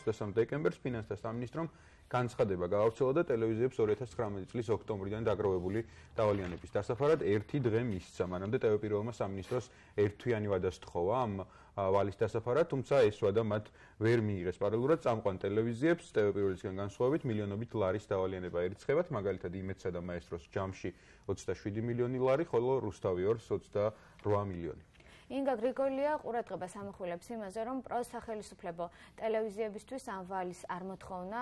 23 დეკემბერს ფინანსთა სამინისტრომ განცხადება გაავრცელა და ტელევიზიებს 2019 წლის ოქტომბრიდან დაგროვებული დავალიანების დასაფარად ერთი დღე მისცა. მანამდე ტელეპირველმა სამინისტროს ერთთვიანი ვადა სთხოვა ამ ვალის დასაფარად, თუმცა ეს ვადა მათ ვერ მიიღეს. პარალელურად წამყვან ტელევიზიებს ტელეპირველისგან განსხვავებით მილიონობით ლარის დავალიანება ერიცხებათ, მაგალითად იმედსა და მაესტროს ჯამში 27 მილიონი ლარი, ხოლო რუსთავი 2-ს 28 მილიონი. ინგა გრიგოლია ყურადღებას ამახვილებს იმაზე, რომ პროსახელისუფლებო ტელევიზიებისთვის ამ ვალის არ მოთხოვნა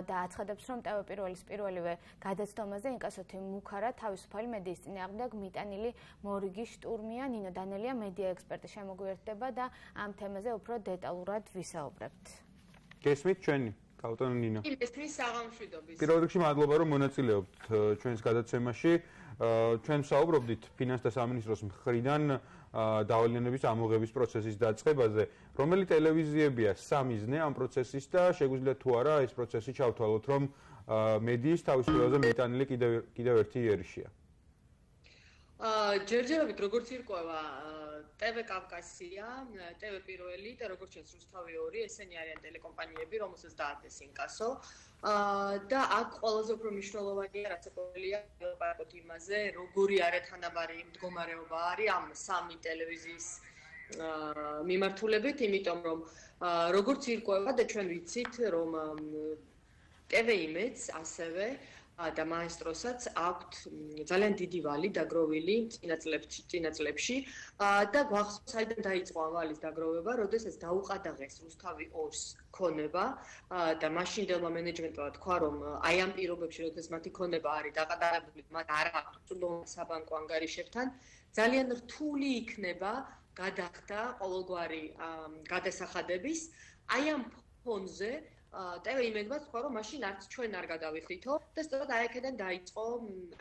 და აცხადებს, რომ ტელეპირველის პირველივე გადაცდომაზე ინკასოთი მუქარა თავისუფალი მედიის წინააღმდეგ მიტანილი მორიგი შტურმია. ნინო დანელია მედია ექსპერტი შემოგვიერთდება და ამ თემაზე უფრო დეტალურად ვისაუბრებთ. გესმით ჩვენი კავტონო ნინო. მესმის საღამშვიდობის. პირველ რიგში მადლობა რომ მონაწილეობთ ჩვენს გადაცემაში. ჩვენ ვსაუბრობდით ფინანსთა სამინისტროს მხრიდან დავალიანების ამოღების პროცესის დაწყებაზე, რომელი ტელევიზიებია სამიზნე ამ პროცესის და შეგვიძლია თუ არა ეს პროცესი ჩავთვალოთ, რომ მედიის თავისუფლებაზე მიტანილი კიდევ ერთი იერიშია. ჯერჯერობით როგორც ირკვევა TV კავკასია, TV პირველი და როგორც ჩვენს რუსთავი 2, ესენი არიან ტელეკომპანიები, რომელსაც დაადეს ინკასო. და აქ ყველაზე უფრო მნიშვნელოვანია, რაც აკეთებია ლაპარაკობთ იმაზე, როგორი არათანაბარი მდგომარეობა არის ამ სამი ტელევიზიის მიმართულებით, იმიტომ რომ როგორც ირკვევა და ჩვენ ვიცით, რომ TV Image ასევე და მაესტროსაც აქვთ ძალიან დიდი ვალი დაგროვილი წინა წლებში და გვახსოვს საიდან დაიწყო ამ ვალის დაგროვება, როდესაც დაუყადაღეს რუსთავი 2-ს ქონება და მაშინდელმა მენეჯმენტმა თქვა, რომ აი ამ პირობებში, როდესაც მათი ქონება არის დაყადაღებული, მათ არ აქვთ წვრილ საბანკო ანგარიშებთან, ძალიან რთული იქნება გადახდა ყოველგვარი გადასახადების აი ამ ფონზე TV Image-მა თქვა, რომ მაშინ არც ჩვენ არ გადავიხდითო და სწორედ აი აქედან დაიწყო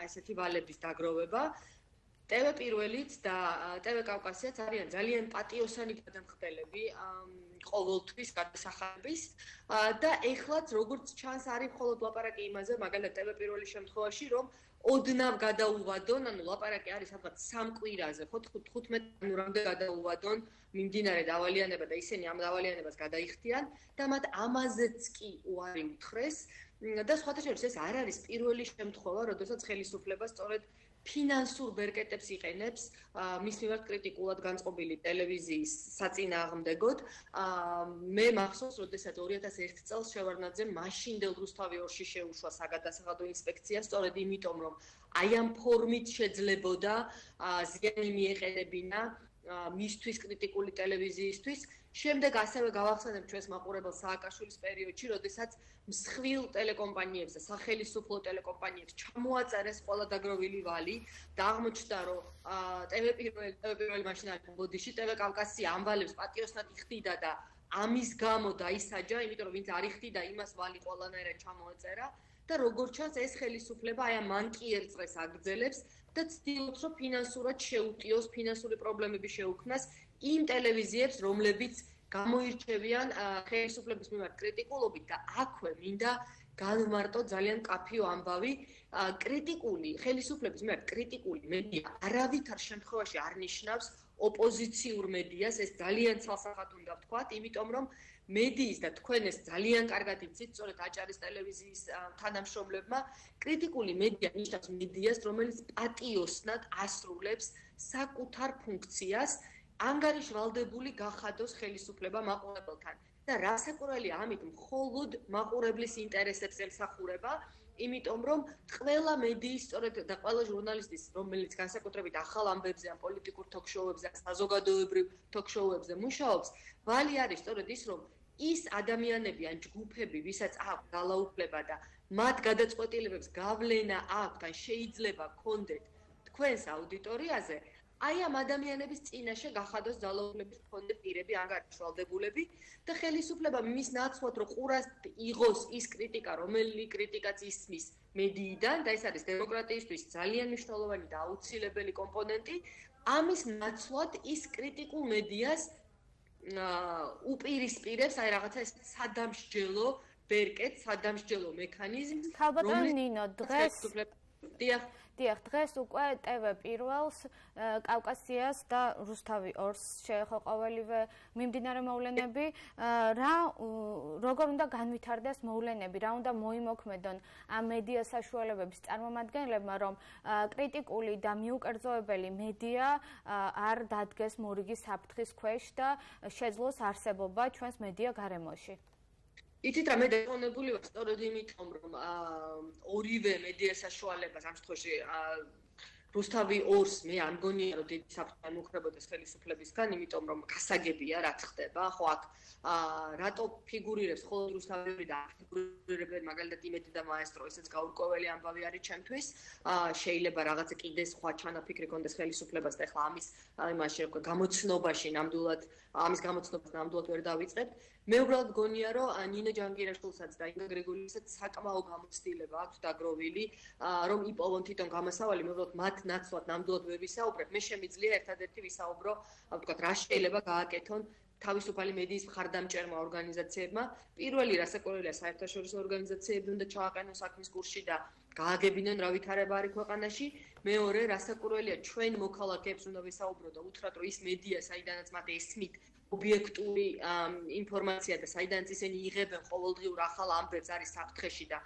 ესეთი ვალების დაგროვება. TV პირველიც და TV კავკასიაც არიან ძალიან პატიოსანი გადამხდელები ყოველთვის გადასახადების და ეხლაც როგორც ჩანს არის მხოლოდ ლაპარაკი იმაზე, მაგალითად TV პირველის შემთხვევაში, რომ ოდნავ გადაუვადონ, ანუ ლაპარაკი არის სადღაც 3 კვირაზე, ხო 15 ნოემბრამდე გადაუვადონ მიმდინარე დავალიანება და ისინი ამ დავალიანებას გადაიხდიან და მათ ამაზეც კი უარი უთხრეს და სხვათა შორის ეს არ არის პირველი შემთხვევა, როდესაც ხელისუფლება სწორედ ფინანსურ ბერკეტებს იყენებს მის მიმართ კრიტიკულად განწყობილი ტელევიზიის საწინააღმდეგოდ. მე მახსოვს, როდესაც 2001 წელს შევარდნაძემ მაშინდელ რუსთავი 2-ში შეუშვა საგადასახადო ინსპექცია, სწორედ იმიტომ, რომ აი ამ ფორმით შეძლებოდა ზიანი მიეყენებინა მისთვის კრიტიკული ტელევიზიისთვის. შემდეგ ასევე გავახსენებ ჩვენს მაყურებელ სააკაშვილის პერიოდში, როდესაც მსხვილ ტელეკომპანიებს და სახელმწიფო ტელეკომპანიებს ჩამოაწერეს ყველა დაგროვილი ვალი და აღმოჩნდა, რომ TV პირველი მაშინ არის ბოდიში, TV კავკასია ამ ვალებს პატიოსნად იხდიდა და ამის გამო დაისაჯა, იმიტომ რომ ვინც არ იხდიდა, იმას ვალი ყველანაირად ჩამოაწერა. და როგორც ჩანს ეს ხელისუფლება აი ამ მანკიერ წრეს აგრძელებს და ცდილობს, რომ ფინანსურად შეუტიოს, ფინანსური პრობლემები შეუქმნას იმ ტელევიზიებს, რომლებიც გამოირჩევიან ხელისუფლების მიმართ კრიტიკულობით და აქვე მინდა განვმარტო ძალიან კაფიო ამბავი, კრიტიკული ხელისუფლების მიმართ კრიტიკული მედია არავითარ შემთხვევაში არ ნიშნავს ოპოზიციურ მედიას, ეს ძალიან ცალსახად უნდა ვთქვათ, იმიტომ რომ მედიის და თქვენ ეს ძალიან კარგად იცით, სწორედ აჭარის ტელევიზიის თანამშრომლებმა, კრიტიკული მედია ნიშნავს მედიას, რომელიც პატიოსნად ასრულებს საკუთარ ფუნქციას, ანგარიშვალდებული გახადოს ხელისუფლება მაყურებელთან. და რასაკვირველია ამით მხოლოდ მაყურებლის ინტერესებს ემსახურება, იმიტომ რომ ყველა მედიის სწორედ და ყველა ჟურნალისტის, რომელიც განსაკუთრებით ახალ ამბებზე, ან პოლიტიკურ თოქ-შოუებზე, ან საზოგადოებრივ თოქ-შოუებზე მუშაობს, ვალი არის სწორედ ის, რომ ის ადამიანები ან ჯგუფები, ვისაც აქვს ძალაუფლება და მათ გადაწყვეტილებებს გავლენა აქვთ, ან შეიძლება გქონდეთ თქვენს აუდიტორიაზე, აი ამ ადამიანების წინაშე გახადოს ძალაუფლების მქონე პირები, ანგარიშვალდებულები და ხელისუფლება მის ნაცვლად რო ყურას იღოს ის კრიტიკა, რომელი კრიტიკაც ისმის მედიიდან და ეს არის დემოკრატიისთვის ძალიან მნიშვნელოვანი და აუცილებელი კომპონენტი, ამის ნაცვლად ის კრიტიკულ მედიას უპირისპირებს აი რაღაცა ეს სადამსჯელო ბერკეტ, სადამსჯელო მექანიზმს, ალბათ ნინო დღეს დიახ, დღეს უკვე TV პირველს, კავკასიას და რუსთავი 2-ს შეეხო ყოველივე მიმდინარე მოვლენები. როგორ უნდა განვითარდეს მოვლენები, რა უნდა მოიმოქმედონ ამ მედია საშუალებების წარმომადგენლებმა, რომ კრიტიკული და მიუკერძოებელი მედია არ დადგეს მორიგის საფრთხის ქვეშ და შეძლოს არსებობა ჩვენს მედია გარემოში. იცით რა, მე დაკონებული ვარ სწორედ იმიტომ, რომ ორივე მედია საშუალებას ამ შემთხვევაში რუსთავი 2-ს მე არ მგონია რომ დიდი საფრთხე მოუქრებოდეს ხელისუფლებისგან, იმიტომ რომ გასაგებია რაც ხდება, ხო აქ რატო ფიგურირებს ხოლმე რუსთავი და ფიგურირებენ მაგალითად იმედი და მაესტრო, ესეც გაურკვეველი ამბავი არის ჩემთვის. შეიძლება რაღაცა კიდე სხვა ჩანაფიქრი კონდეს ხელისუფლებას და ახლა ამის იმაში რა გამოცნობაში ნამდვილად ამის გამოცნობას ნამდვილად ვერ დავიწყებთ. მე უბრალოდ გონია რომ ნინო ჯანგირაშვილსაც და ინგა გრიგოლიასაც საკმაო გამოცდილება აქვს დაგროვილი, რომ იპოვონ თვითონ გამოსავალი, მე უბრალოდ მათ ნაცვლად ნამდვილად ვერ ვისაუბრებ. მე შემიძლია ერთადერთი ვისაუბრო, ვთქვათ, რა შეიძლება გააკეთონ თავისუფალი მედიის მხარდამჭერმა ორგანიზაციებმა. პირველი რასაკვირველია საერთაშორისო ორგანიზაციები უნდა ჩააყენონ საქმის კურსში და გააგებინონ რა ვითარება არის ქვეყანაში. მეორე რასაკვირველია ჩვენ მოქალაქეებს უნდა ვისაუბრო და უთხრათ რომ ის მედია საიდანაც მათ ესმით ობიექტური ინფორმაცია და საიდანაც ისინი იღებენ ყოველდღიურ ახალ ამბებს არის საფრთხეში და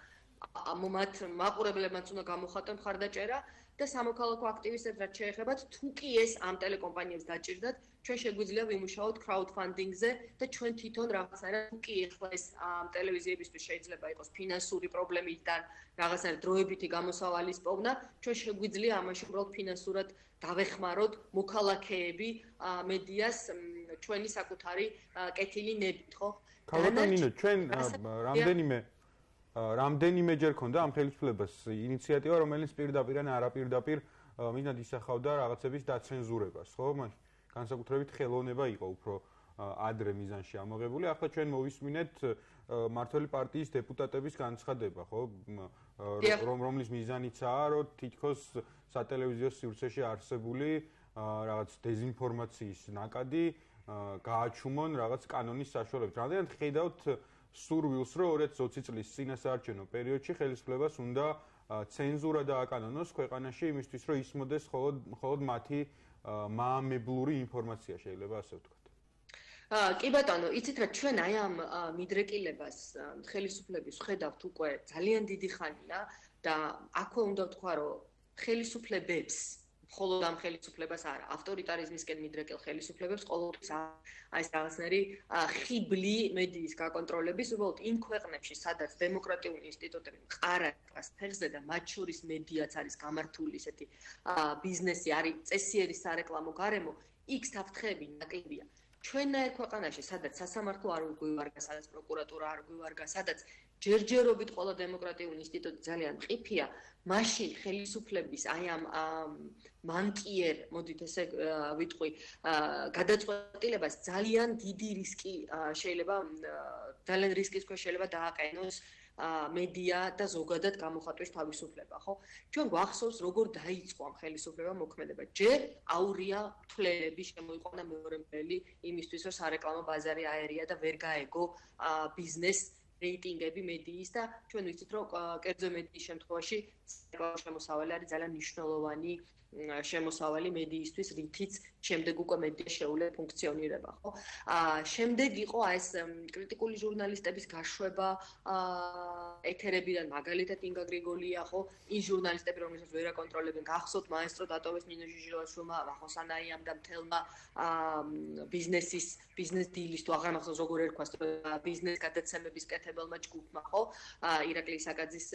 მათ მაყურებლებმაც უნდა გამოხატონ მხარდაჭერა და სამოქალაქო აქტივისტებს რაც შეეხებათ თუ კი ეს ამ ტელეკომპანიებს დაჭირდათ ჩვენ შეგვიძლია ვიმუშაოთ crowdfunding-ზე და ჩვენ თვითონ რაღაცნაირად თუ კი ახლა ეს ტელევიზიებისთვის შეიძლება იყოს ფინანსური პრობლემიდან რაღაცნაირად დროებითი გამოსავალის პოვნა ჩვენ შეგვიძლია ამაში უბრალოდ ფინანსურად დავეხმაროთ მოქალაქეები მედიას ჩვენი საკუთარი კეთილი ნებით, ხო? ქალბატონინო, ჩვენ რამდენიმეჯერ ქონდა ამ ხელისუფლებას ინიციატივა, რომელიც პირდაპირ ან არაპირდაპირ მინდა ისახავდა რაღაცების დაცენზურებას, ხო? მაშინ განსაკუთრებით ხელოვნება იყო უფრო ადრე მიზანში ამოღებული. ახლა ჩვენ მოვისმინეთ მართველი პარტიის დეპუტატების განცხადება, ხო? რომლის მიზანიცაა, რომ თითქოს სატელევიზიო სივრცეში არსებული რაღაც დეзинფორმაციის ნაკადი გააჩუმონ რაღაც კანონის საშუალებით. რამდენად ხედავთ სურვილს, რომ 2020 წლის წინასაარჩევნო პერიოდში ხელისუფლებას უნდა ცენზურა დააკანონოს ქვეყანაში იმისთვის, რომ ისმოდეს მხოლოდ მათი მაამებლური ინფორმაცია, შეიძლება ასე ვთქვათ. კი ბატონო, იცით რა ჩვენ აი ამ მიდრეკილებას ხელისუფლების ხედავთ უკვე ძალიან დიდი ხანია და აქვე უნდა ვთქვა, რომ ხელისუფლებებს მხოლოდ ამ ხელისუფლებას არა, ავტორიტარიზმისკენ მიდრეკილ ხელისუფლებებს ყოველთვის აი ეს რაღაცნაირი ხიბლი მედიის გაკონტროლების, უბრალოდ იმ ქვეყნებში, სადაც დემოკრატიული ინსტიტუტები მყარას ფეხზე და მათ შორის მედიაც არის გამართული ესეთი ბიზნესი არის წესიერი სარეკლამო გარემო, იქ საფრთხეები ნაკლებია. ჩვენნაირ ქვეყანაში, სადაც სასამართლო არ გვივარგა, სადაც პროკურატურა არ გვივარგა, სადაც ჯერჯერობით ყველა დემოკრატიული ინსტიტუტი ძალიან მყიფეა, მაშინ ხელისუფლების აი ამ მანკიერ, მოდით ესე ვიტყვი, გადაწყვეტილებას ძალიან დიდი რისკი შეიძლება ძალიან რისკის ქვეშ შეიძლება დააყენოს მედია და ზოგადად გამოხატვის თავისუფლება, ხო? ჩვენ გვახსოვს როგორ დაიწყო ამ ხელისუფლებამ მოქმედება. ჯერ აურია თვლელები შემოიყვანა მეორე მბელი იმისთვის, რომ სარეკლამო ბაზარი აერია და ვერ გაეგო ბიზნეს რეიტინგები მედიის და ჩვენ ვიცით, რომ კერძო მედიის შემთხვევაში შემოსავალი არის ძალიან მნიშვნელოვანი შემოსავალი მედიისთვის, რითიც შემდეგ უკვე მედია შეუძლია ფუნქციონირება, ხო? შემდეგ იყო ეს კრიტიკული ჟურნალისტების გაშვება ეთერებიდან, მაგალითად ინგა გრიგოლია, ხო? ის ჟურნალისტები, რომელსაც ვერ აკონტროლებენ, გახსოვთ მაესტრო დატოვეს ნინო ჟიჟილაშვილმა, ვახოსანაიამ და მთელმა ბიზნეს დილის თუ აღარ მახსოვს როგორ ერქვას ბიზნეს გადაცემების კეთებელმა ჯგუფმა, ხო? ირაკლი საკაძის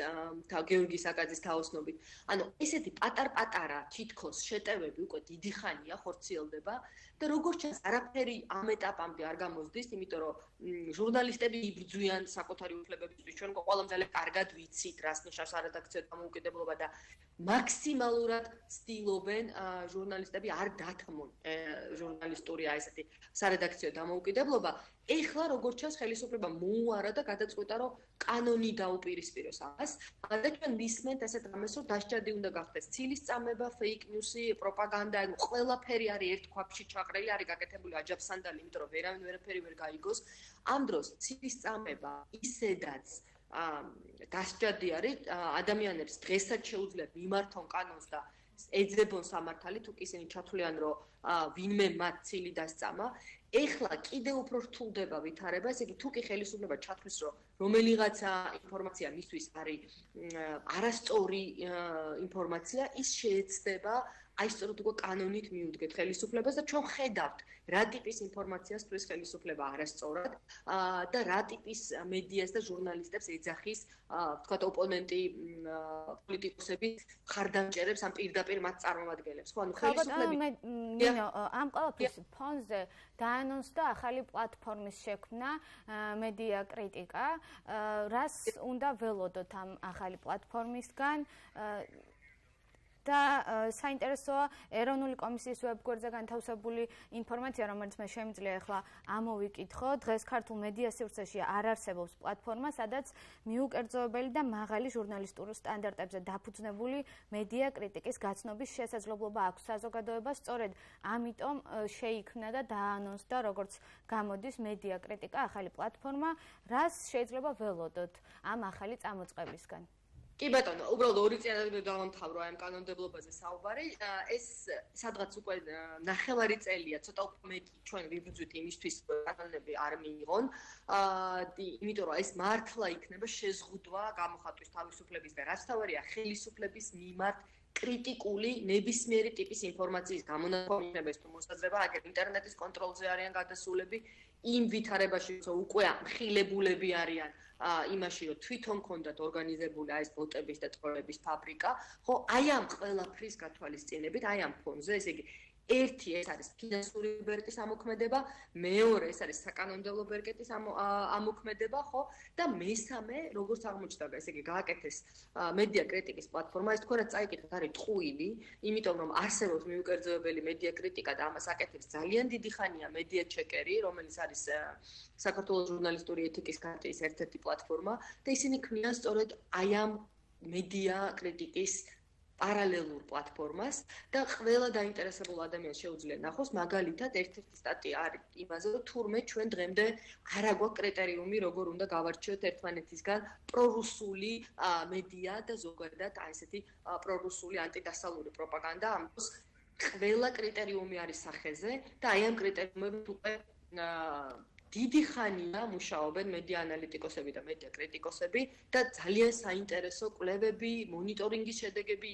გეორგი საკაძის თაოსნობით. ანუ ესეთი პატარ-პატარა თითქოს შეტევები უკვე დიდი ხანია ხორციელდება და როგორც ჩანს არაფერი ამ ეტაპამდე არ გამოსდის, იმიტომ რომ ჟურნალისტები იბრძვიან საკუთარი უფლებებისთვის. ჩვენ ყველამ ძალიან კარგად ვიცით, რას ნიშნავს არედაქციო დამოუკიდებლობა და მაქსიმალურად ცდილობენ ჟურნალისტები არ დათმონ ჟურნალისტური აი ესეთი სარედაქციო დამოუკიდებლობა. ეხლა როგორც ჩანს ხელისუფლება მოუარა და გადაწყვეტა, რომ კანონი დაუპირისპიროს ამას. და ჩვენ ვისმენთ ასეთ რამეს, რომ დასჯადი უნდა გახდეს ცილისწამება, fake news-ი, პროპაგანდა, ყველაფერი არის ერთ ქვაბში ჩაყრილი, არის გაკეთებული აჯაფსანდალი, იმიტომ რომ ვერავინ ვერაფერი ვერ გაიგოს. ამ დროს ცილისწამება ისედაც დასჯადი არის ადამიანებს დღესაც შეუძლიათ მიმართონ კანონს და ეძებონ სამართალი თუ ისინი ჩათვლიან რომ ვინმე მათ ცილი დასწამა ეხლა კიდევ უფრო რთულდება ვითარება ესე იგი თუ კი ხელისუფლება ჩათვლის რომ რომელიღაცა ინფორმაცია მისთვის არის არასწორი ინფორმაცია ის შეეცდება აი სწორედ უკვე კანონით მიუდგეთ ხელისუფლებას და ჩვენ ხედავთ რა ტიპის ინფორმაციას თვლის ხელისუფლება არასწორად და რა ტიპის მედიას და ჟურნალისტებს ეძახის ვთქვათ ოპონენტი პოლიტიკოსები ხარდამჭერებს ამ პირდაპირ მათ წარმომადგენლებს ხო ანუ ხელისუფლები ამ ყველაფრის ფონზე დაანონსდა ახალი პლატფორმის შექმნა მედია კრიტიკა რას უნდა ველოდოთ ამ ახალი პლატფორმისგან და საინტერესოა ეროვნული კომისიის ვებგვერდზე განთავსებული ინფორმაცია, რომელიც მე შემიძლია ახლა ამოვიკითხო. დღეს ქართულ მედია სივრცეში არ არსებობს პლატფორმა, სადაც მიუკერძოებელი და მაღალი ჟურნალისტური სტანდარტებზე დაფუძნებული მედია კრიტიკის გაცნობის შესაძლებლობა აქვს საზოგადოებას. სწორედ ამიტომ შეიქმნა და დაანონსდა, როგორც გამოდის მედია კრიტიკა ახალი პლატფორმა, რას შეიძლება ველოდოთ ამ ახალი წამოწყებისგან. კი ბატონო, უბრალოდ ორი წელი დავამთავრო ამ კანონმდებლობაზე საუბარი. ეს სადღაც უკვე ნახევარი წელია, ცოტა უფრო მეტი ჩვენ ვიბრძვით იმისთვის, რომ კანონები არ მიიღონ. იმიტომ რომ ეს მართლა იქნება შეზღუდვა გამოხატვის თავისუფლების და რაც თავარია ხელისუფლების მიმართ კრიტიკული ნებისმიერი ტიპის ინფორმაციის გამონაკვეთების თუ მოსაზრება, აგერ ინტერნეტის კონტროლზე არიან გადასულები, იმ ვითარებაში, რომ უკვე ამხილებულები არიან იმაში რომ თვითონ კონდათ ორგანიზებული ეს ბოტების და ტროლების ფაბრიკა, ხო, აი ამ ყველაფრის გათვალისწინებით, აი ამ ფონზე, ესე იგი ერთი ეს არის ფინანსური ბერკეტის ამოქმედება, მეორე ეს არის საკანონმდებლო ბერკეტის ამოქმედება, ხო? და მესამე, როგორც აღმოჩნდა, ესე იგი გააკეთეს მედია კრიტიკის პლატფორმა, ეს თქვენაც წაიკითხეთ, არის ტყუილი, იმიტომ რომ არსებობს მიუკერძოებელი მედია კრიტიკა და ამას აკეთებს ძალიან დიდი ხანია მედია ჩეკერი, რომელიც არის საქართველოს ჟურნალისტური ეთიკის კარტის ერთ-ერთი პლატფორმა და ისინი ქმნიან სწორედ აი ამ მედია კრიტიკის პარალელურ პლატფორმას და ყველა დაინტერესებულ ადამიანს შეუძლია ნახოს მაგალითად ერთ-ერთი სტატია არის იმაზე რომ თურმე ჩვენ დღემდე არ აგვაქვს კრიტერიუმი როგორ უნდა გავარჩიოთ ერთმანეთისგან პრორუსული მედია და ზოგადად აი ესეთი პრორუსული ანტიდასავლური პროპაგანდა ამის ყველა კრიტერიუმი არის სახეზე და აი ამ კრიტერიუმებით უკვე დიდი ხანია მუშაობენ მედია ანალიტიკოსები და მედია კრიტიკოსები და ძალიან საინტერესო კვლევები, მონიტორინგის შედეგები,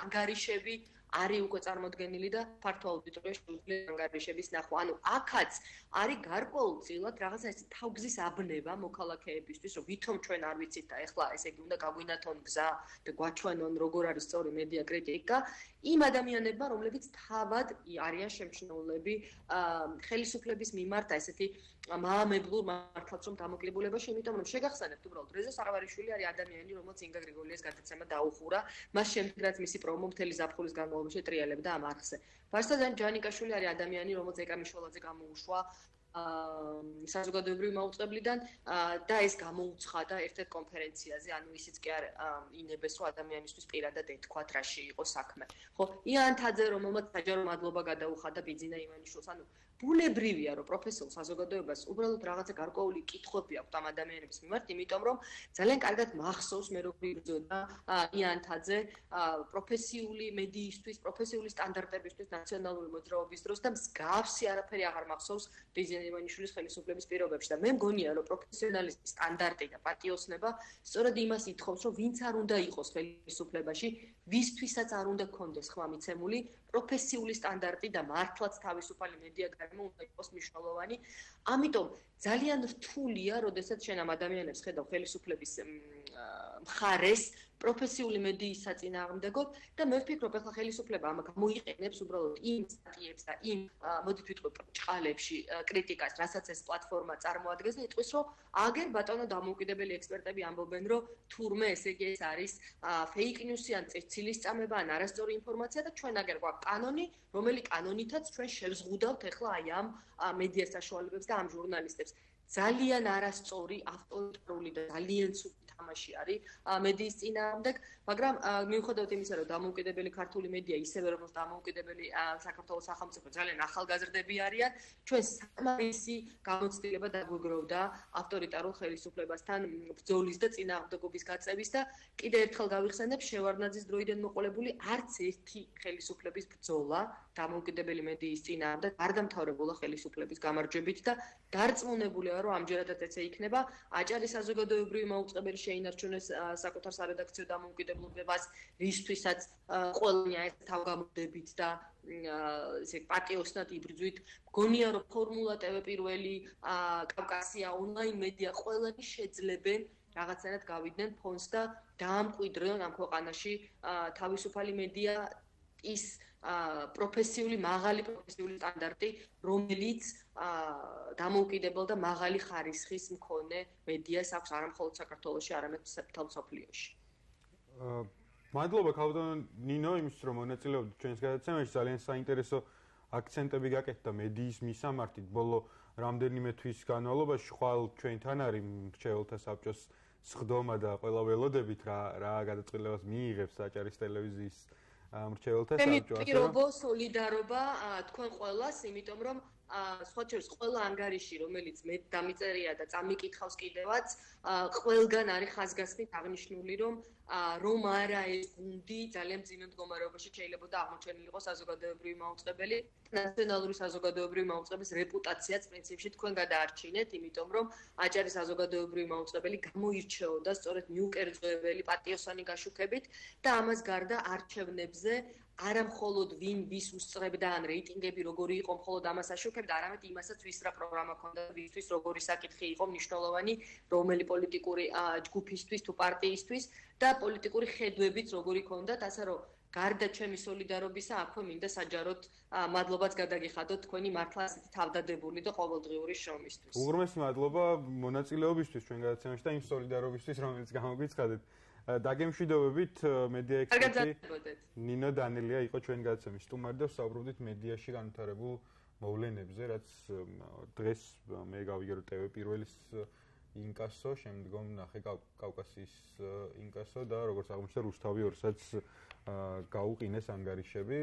ანგარიშები არის უკვე წარმოდგენილი და ფართო აუდიტორია შეუძლია ანგარიშების ნახვა. ანუ აქაც არის გარკვეულწილად რაღაცა ეს თავგზის აბნება მოქალაქეებისთვის, რომ ვითომ ჩვენ არ ვიცით და ეხლა ესე იგი უნდა გაგვინათონ გზა და გვაჩვენონ როგორ არის სწორი მედია კრიტიკა იმ ადამიანებმა, რომლებიც თავად არიან შემჩნეულები ხელისუფლების მიმართ ესეთი მაამებლურ მართლაც რომ დამოკლებულებაში, იმიტომ რომ შეგახსენებთ უბრალოდ რეზო სარვარიშვილი არის ადამიანი, რომელსაც ინგა გრიგოლიას გადაცემა დაუხურა, მას შემდეგ რაც მისი პრომო მთელი ზაფხულის განმავლობაში ტრიალებდა ამ არხზე. ვარსადან ჯანიკაშვილი არის ადამიანი, რომელსაც ეკამიშველაძე გამოუშვა საზოგადოებრივი მაუწყებლიდან და ეს გამოუცხადა ერთ-ერთ კონფერენციაზე, ანუ ისიც კი არ ინებეს რომ ადამიანისთვის პირადად ეთქვათ რაში იყო საქმე. ხო, იან თაძე რომელმაც საჯარო მადლობა გადაუხადა ბიძინა ივანიშვილს, ანუ ბუნებრივია რომ პროფესიულ საზოგადოებას უბრალოდ რაღაცა გარკვეული კითხვები აქვს ამ ადამიანების მიმართ, იმიტომ რომ ძალიან კარგად მახსოვს მე როგორ იბრძოდა იან თაძე პროფესიული მედიისთვის, პროფესიული სტანდარტებისთვის ნაციონალური მოძრაობის დროს და მსგავსი არაფერი აღარ მახსოვს ბიძინა ივანიშვილის ხელისუფლების პირობებში და მე მგონია რომ პროფესიონალიზმის სტანდარტი და პატიოსნება სწორედ იმას ითხოვს, რომ ვინც არ უნდა იყოს ხელისუფლებაში, ვისთვისაც არ უნდა კონდეს ხმამიცემული პროფესიული სტანდარტი და მართლაც თავისუფალი მედია გარემო უნდა იყოს მნიშვნელოვანი. ამიტომ ძალიან რთულია, როდესაც შენ ამ ადამიანებს ხედავ ხელისუფლების მხარეს პროფესიული მედიის საწინააღმდეგოდ და მე ვფიქრობ, ახლა ხელისუფლება ამ გამოიყენებს უბრალოდ იმ სტატიებს და იმ მოდით ვიტყვი ბრჭყალებში კრიტიკას, რასაც ეს პლატფორმა წარმოადგენს და იტყვის, რომ აგერ ბატონო დამოუკიდებელი ექსპერტები ამბობენ, რომ თურმე ესე იგი ეს არის ფეიქ ნიუსი ან ცილის წამება ან არასწორი ინფორმაცია და ჩვენ აგერ გვაქვს კანონი, რომელი კანონითაც ჩვენ შევზღუდავთ ახლა აი ამ მედია საშუალებებს და ამ ჟურნალისტებს. ძალიან არასწორი, ავტორიტარული და ძალიან ცუდ თამაში არის მედიის წინააღმდეგ, მაგრამ მიუხედავად იმისა, რომ დამოუკიდებელი ქართული მედია ისევე როგორც დამოუკიდებელი საქართველოს სახელმწიფო ძალიან ახალგაზრდები არიან, ჩვენ საკმარისი გამოცდილება დაგვიგროვდა ავტორიტარულ ხელისუფლებასთან ბრძოლის და წინააღმდეგობის გაწევის და კიდევ ერთხელ გავიხსენებ, შევარდნაძის დროიდან მოყოლებული არც ერთი ხელისუფლების ბრძოლა დამოუკიდებელი მედიის წინააღმდეგ არ დამთავრებულა ხელისუფლების გამარჯვებით და დარწმუნებულია, რომ ამჯერადაც ეცე იქნება. აჭარის საზოგადოებრივი მაუწყებელი შეინარჩუნეს საკუთარ სარედაქციო დამოუკიდებლობას, რისთვისაც ყველანი ეს თავგამოდებით და ესე პატიოსნად იბრძვით. მგონია, რომ ფორმულა TV პირველი, კავკასია, ონლაინ მედია ყველანი შეძლებენ რაღაცნაირად გავიდნენ ფონს და დაამკვიდრონ ამ ქვეყანაში თავისუფალი მედია ის მაღალი პროფესიული სტანდარტი, რომელიც დამოუკიდებელ და მაღალი ხარისხის მქონე მედიას აქვს არა მხოლოდ საქართველოში, არამედ მთელ მსოფლიოში. მადლობა ქალბატონ ნინო იმისთვის, რომ მონაწილეობდით ჩვენს გადაცემაში. ძალიან საინტერესო აქცენტები გაკეთდა მედიის მისამართით. ბოლო რამდენიმე თვის განმავლობაში ხვალ ჩვენთან არის მრჩეველთა საბჭოს სხდომა და ყველა ველოდებით რა გადაწყვეტილებას მიიღებს აჭარის ტელევიზიის მრჩეველთა საბჭო. პირობო სოლიდარობა თქვენ ყველას, იმიტომ რომ სხვა შორის ყველა ანგარიში, რომელიც მე დამიწერია და წამიკითხავს კიდევაც, ყველგან არის ხაზგასმით აღნიშნული, რომ არა ეს გუნდი ძალიან მძიმე მდგომარეობაში შეიძლება აღმოჩენილიყო საზოგადოებრივი მაუწყებელი, ნაციონალური საზოგადოებრივი მაუწყებლის რეპუტაციაც პრინციპში თქვენ გადაარჩინეთ, იმიტომ რომ აჭარის საზოგადოებრივი მაუწყებელი გამოირჩეოდა სწორედ მიუკერძოებელი პატიოსანი გაშუქებით და ამას გარდა არჩევნებზე არა მხოლოდ ვის უსწრებდა ან რეიტინგები როგორი იყო მხოლოდ ამას აშუქებდა, არამედ იმასაც ვის რა პროგრამა ჰქონდა, ვისთვის როგორი საკითხი იყო მნიშვნელოვანი, რომელი პოლიტიკური ჯგუფისთვის თუ პარტიისთვის და პოლიტიკური ხედვებიც როგორი ჰქონდათ, ასე რომ გარდა ჩემი სოლიდარობისა, აქვე მინდა საჯაროდ მადლობაც გადაგიხადოთ თქვენი მართლა ასეთი თავდადებული და ყოველდღიური შრომისთვის. უღრმესი მადლობა მონაწილეობისთვის ჩვენ გადაცემაში და იმ სოლიდარობისთვის, რომელიც გამოგვიცხადეთ. დაგემშვიდობებით მედია ექსპერტი ნინო დანელია იყო ჩვენ გადაცემის სტუმარი და ვსაუბრობდით მედიაში განვითარებულ მოვლენებზე, რაც დღეს მე გავიგე რომ TV პირველის ინკასო, შემდგომ ნახე კავკასიის ინკასო და როგორც აღმოჩნდა რუსთავი 2-საც გაუყინეს ანგარიშები.